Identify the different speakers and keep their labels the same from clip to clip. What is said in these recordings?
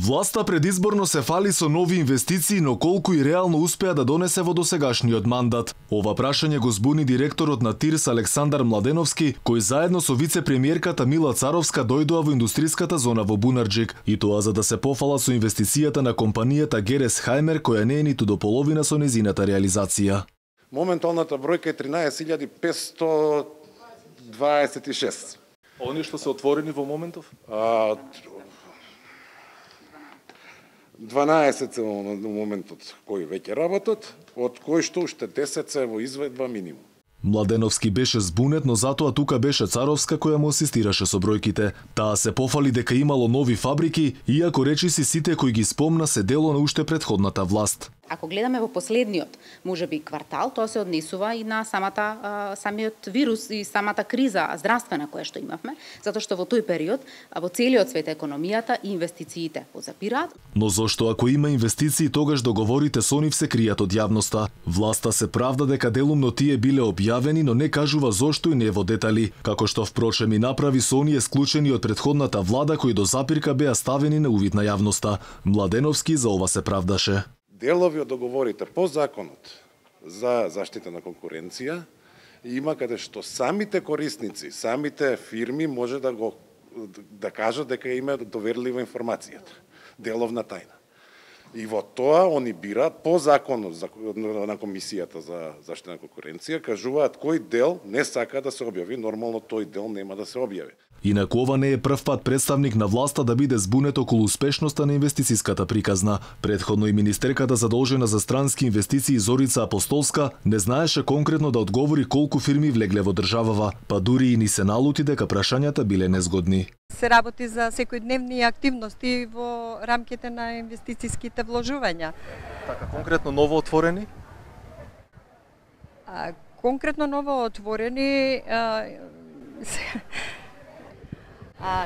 Speaker 1: Власта предизборно се фали со нови инвестиции, но колку и реално успеа да донесе во досегашниот мандат? Ова прашање го збуни директорот на ТИРС Александар Младеновски, кој заедно со вице-премиерката Мила Царовска дојдоа во индустријската зона во Бунарџик, и тоа за да се пофала со инвестицијата на компанијата Гересхаймер, која не е ниту до половина со незината реализација.
Speaker 2: Моменталната бројка е 13.526.
Speaker 1: Они што се отворени во моментов?
Speaker 2: 12 се во моментот кои веќе работат, од кои што уште 10 се во изведба минимум.
Speaker 1: Младеновски беше збунет, но затоа тука беше Царовска која му асистираше со бројките. Таа се пофали дека имало нови фабрики, иако речиси сите кои ги спомна се дело на уште претходната власт.
Speaker 3: Ако гледаме во последниот, можеби квартал, тоа се однесува и на самиот вирус и самата криза здравствена која што имавме, затоа што во тој период во целиот свет економијата и инвестициите позапираат.
Speaker 1: Но зошто ако има инвестиции, тогаш договорите со нив се кријат од јавноста? Власта се правда дека делумно тие биле објавени, но не кажува зошто и не во детали, како што впрочем и направи со оние склучени од претходната влада кои до запирка беа ставени на увид на јавноста. Младеновски за ова се правдаше.
Speaker 2: Делови од договорите по законот за заштита на конкуренција има каде што самите корисници, самите фирми може да кажат дека има доверлива информацијата, деловна тајна. И во тоа они бираат по законот на Комисијата за заштита на конкуренција, кажуваат кој дел не сака да се објави, нормално тој дел нема да се објави.
Speaker 1: Инаку ова не е прв пат представник на власта да биде збунет околу успешноста на инвестицијската приказна. Предходно и министерката задолжена за странски инвестиции Зорица Апостолска не знаеше конкретно да одговори колку фирми влегле во државава, па дури и ни се налути дека прашањата биле незгодни.
Speaker 4: Се работи за секојдневни активности во рамките на инвестицијските вложувања.
Speaker 5: Така, конкретно ново отворени?
Speaker 4: Конкретно ново отворени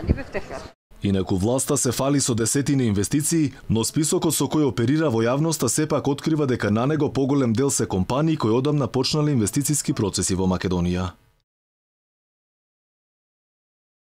Speaker 4: не бев така.
Speaker 1: Инаку власта се фали со десетини инвестиции, но списокот со кој оперира во јавноста сепак открива дека на него поголем дел се компании кои одамна почнале инвестицијски процеси во Македонија.